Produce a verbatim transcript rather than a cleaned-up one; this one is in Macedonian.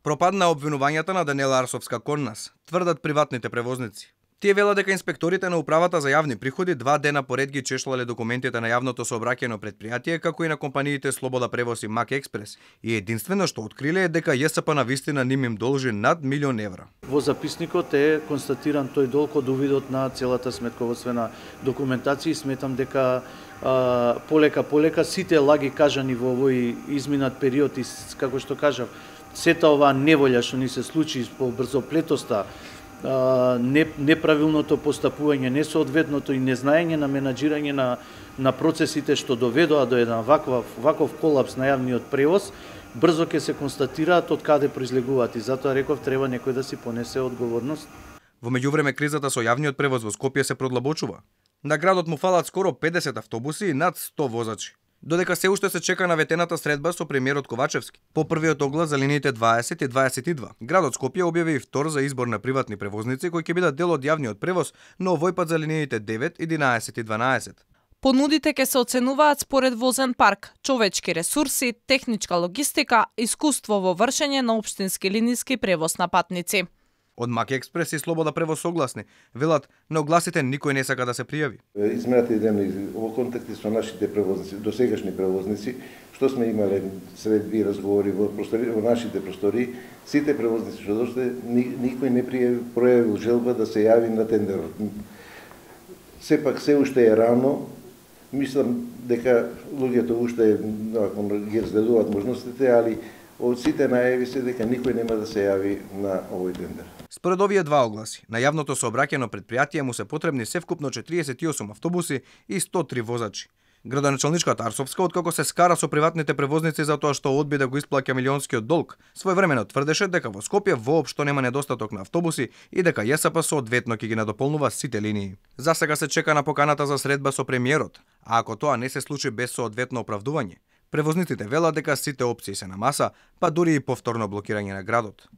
Пропадна обвинувањата на Даниела Арсовска кон нас, тврдат приватните превозници. Тие велат дека инспекторите на Управата за јавни приходи два дена поред ги чешлале документите на јавното сообраќајно предпријатие, како и на компаниите Слобода превоз и Мак Експрес, и единствено што откриле е дека ЈСП на вистина ним им должи над милион евра. Во записникот е констатиран тој долг од увидот на целата сметководствена документација и сметам дека а, полека полека сите лаги кажани во овој изминат период и како што кажав, сета оваа неволја што ни се случи по брзоплетоста, неправилното постапување, несоодветното и незнаење на менаџирање на, на процесите што доведоа до еден ваков, ваков колапс на јавниот превоз, брзо ќе се констатираат од каде произлегуваат и затоа реков треба некој да си понесе одговорност. Во меѓувреме кризата со јавниот превоз во Скопје се продлабочува. На градот му фалат скоро педесет автобуси и над сто возачи. Додека се уште се чека на ветената средба со премиерот Ковачевски. По првиот оглас за линиите дваесет и дваесет и два, градот Скопје објави и втор за избор на приватни превозници кои ќе бидат дел од јавниот превоз, но овој пат за линиите девет, единаесет и дванаесет. Понудите ќе се оценуваат според возен парк, човечки ресурси, техничка логистика, искуство во вршење на општински линиски превоз на патници. Од Мак Експрес и Слобода превоз согласни, велат на огласите никој не сака да се пријави. Измената идем во контакти со нашите превозници, досегашни превозници, што сме имале средби разговори во простори, во нашите простори, сите превозници што дошли, никој не пројавил желба да се јави на тендерот. Сепак се уште е рано, мислам дека луѓето уште ги разгледуваат можностите, али од сите најави се дека никој нема да се јави на овој тендер. Според овие два огласи, на јавното сообраќајно предпријатие му се потребни севкупно четириесет и осум автобуси и сто три возачи. Градоначалничката Арсовска, откако се скара со приватните превозници за тоа што одби да го исплаќа милионскиот долг, своевремено тврдеше дека во Скопје воопшто нема недостаток на автобуси и дека ЈСП соодветно ќе ги надополнува сите линии. За сега се чека на поканата за средба со премиерот, а ако тоа не се случи без соодветно оправдување, превозниците велат дека сите опции се на маса, па дури и повторно блокирање на градот.